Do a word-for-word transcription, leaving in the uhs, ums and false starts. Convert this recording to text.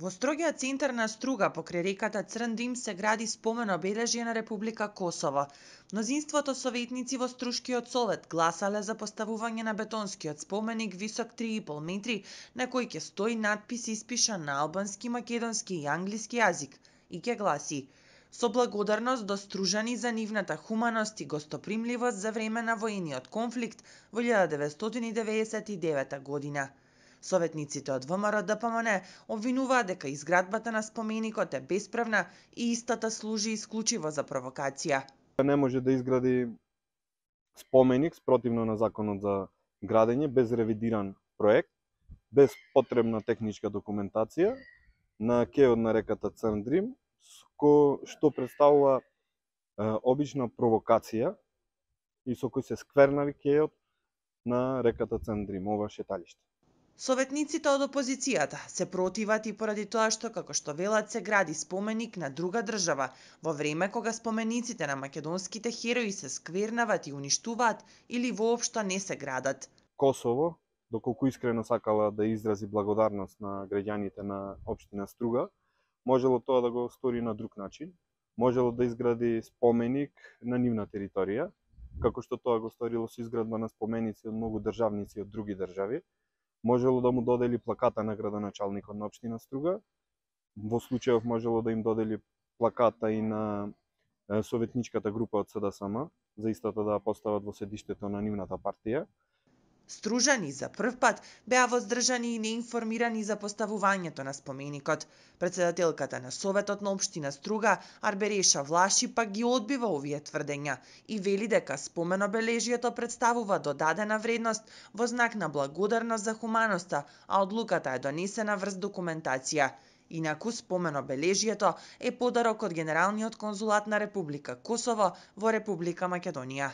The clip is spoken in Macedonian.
Во строгиот центар на Струга покрај реката Црндрим се гради спомен обележје на Република Косово. Мнозинството советници во Струшкиот совет гласале за поставување на бетонскиот споменик висок три и пол метри на кој ќе стои надпис испишан на албански, македонски и англиски јазик и ќе гласи: со благодарност до стружани за нивната хуманост и гостопримливост за време на воениот конфликт во илјада деветстотини деветдесет и девета година. Советниците од ВМРО Д П М Н обвинуваат дека изградбата на споменикот е бесправна и истата служи исклучиво за провокација. Не може да изгради споменик спротивно на законот за градење без ревидиран проект, без потребна техничка документација на кејот на реката Црндрим, што представува е, обична провокација и со кој се сквернави кејот на реката Црндрим, ова шеталиште. Советниците од опозицијата се противат и поради тоа што, како што велат, се гради споменик на друга држава, во време кога спомениците на македонските херои се сквернават и уништуваат или воопшто не се градат. Косово, доколку искрено сакала да изрази благодарност на граѓаните на општина Струга, можело тоа да го стори на друг начин, можело да изгради споменик на нивна територија, како што тоа го сторило со изградба на споменици од многу државници од други држави, можело да му додели плаката на градоначалникот на општина Струга, во случајов можело да им додели плаката и на советничката група од С Д С М, за истата да постават во седиштето на нивната партија. Стружани за прв пат беа воздржани и неинформирани за поставувањето на споменикот. Председателката на Советот на општина Струга, Арбереша Влаши, пак ги одбива овие тврдења и вели дека споменобележјето представува додадена вредност во знак на благодарност за хуманоста, а одлуката е донесена врз документација. Инаку споменобележјето е подарок од Генералниот конзулат на Република Косово во Република Македонија.